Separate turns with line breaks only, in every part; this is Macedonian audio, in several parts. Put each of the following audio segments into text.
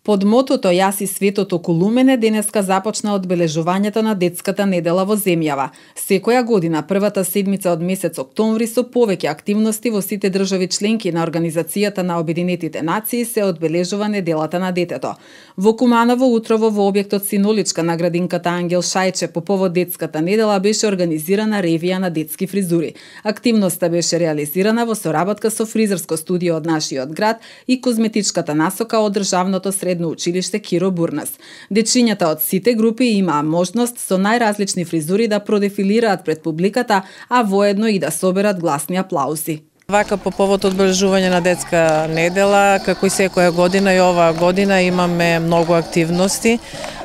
Под мотото Јас и светот околу мене денеска започна одбележувањето на детската недела во земјава. Секоја година првата седмица од месец октомври со повеќе активности во сите држави членки на Организацијата на Обединетите нации се одбележува неделата на детето. Во Куманово утрово во објектот Синоличка на градинката Ангел Шајче по повод детската недела беше организирана ревија на детски фризури. Активноста беше реализирана во соработка со фризерско студио од нашиот град и козметичката насока од државното средно училиште Киро Бурнас. Дечињата од сите групи имаа можност со најразлични фризури да продефилираат пред публиката, а воедно и да соберат гласни аплаузи.
Вака по повод одбележување на детска недела, како и секоја година и оваа година имаме многу активности.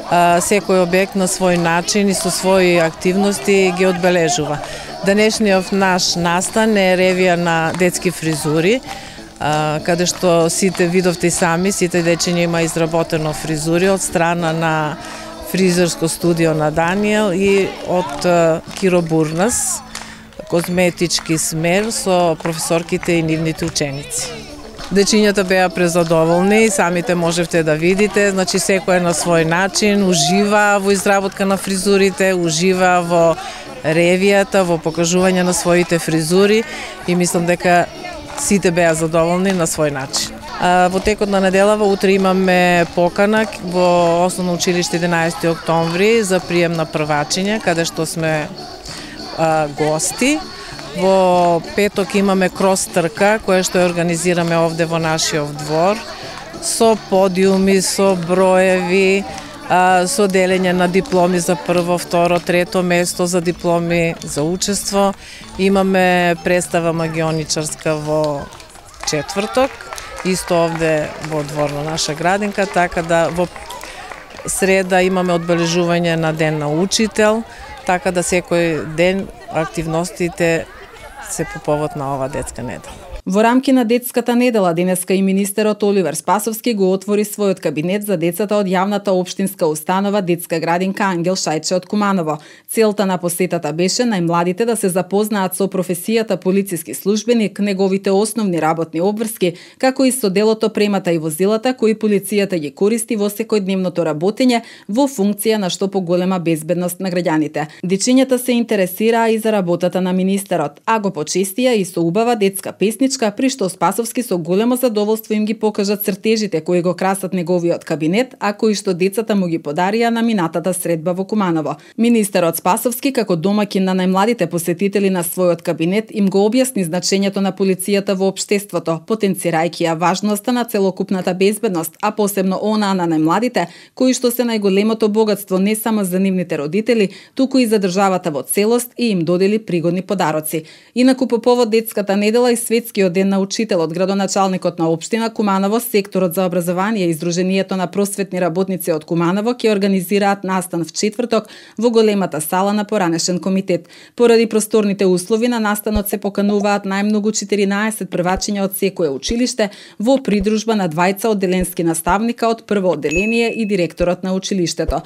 Секој објект на свој начин и со своји активности ги одбележува. Денешниот наш настан е ревија на детски фризури, каде што сите видовте и сами, сите дечиња има изработено фризури од страна на фризерско студио на Даниел и од Киро Бурнас, козметички смер со професорките и нивните ученици. Дечињата беа презадоволни, самите можевте да видите, значи секој на свој начин ужива во изработка на фризурите, ужива во ревијата, во покажување на своите фризури и мислам дека сите беа задоволни на свој начин. Во текот на неделава утре имаме покана во Основно училиште 11 октомври за прием на првачиња, каде што сме гости. Во петок имаме крос трка, која што ја организираме овде во нашиот двор, со подиуми, со броеви, со делење на дипломи за прво, второ, трето место, за дипломи за учество. Имаме представа магионичарска во четврток, исто овде во двор на наша градинка, така да во среда имаме одбележување на Ден на учител, така да секој ден активностите се по повод на ова детска недела.
Во рамки на детската недела денеска и министерот Оливер Спасовски го отвори својот кабинет за децата од јавната општинска установа Детска градинка Ангел Шајче од Куманово. Целта на посетата беше најмладите да се запознаат со професијата полициски службеник, неговите основни работни обврски, како и со делото, премата и возилата кои полицијата ги користи во секојдневното работење во функција на што поголема безбедност на граѓаните. Дечињата се интересираа и за работата на министерот, а го почестија и со убава детска песничка, при што Спасовски со големо задоволство им ги покажа цртежите кои го красат неговиот кабинет, а кои што децата му ги подарија на минатата средба во Куманово. Министерот Спасовски, како домаќин на најмладите посетители на својот кабинет, им го објасни значењето на полицијата во општеството, потенцирајќи ја важноста на целокупната безбедност, а посебно онаа на најмладите, кои што се најголемото богатство не само за нивните родители, туку и за државата во целост, и им додели пригодни подароци. Инаку по повод детската недела и светскиот Ден на учителот, градоначалникот на општина Куманово, секторот за образование и Сдруженијето на просветни работници од Куманово ќе организираат настан в четврток во големата сала на поранешен комитет. Поради просторните услови на настанот се покануваат најмногу 14 првачиња од секое училиште во придружба на двајца одделенски наставника од прво одделение и директорот на училиштето.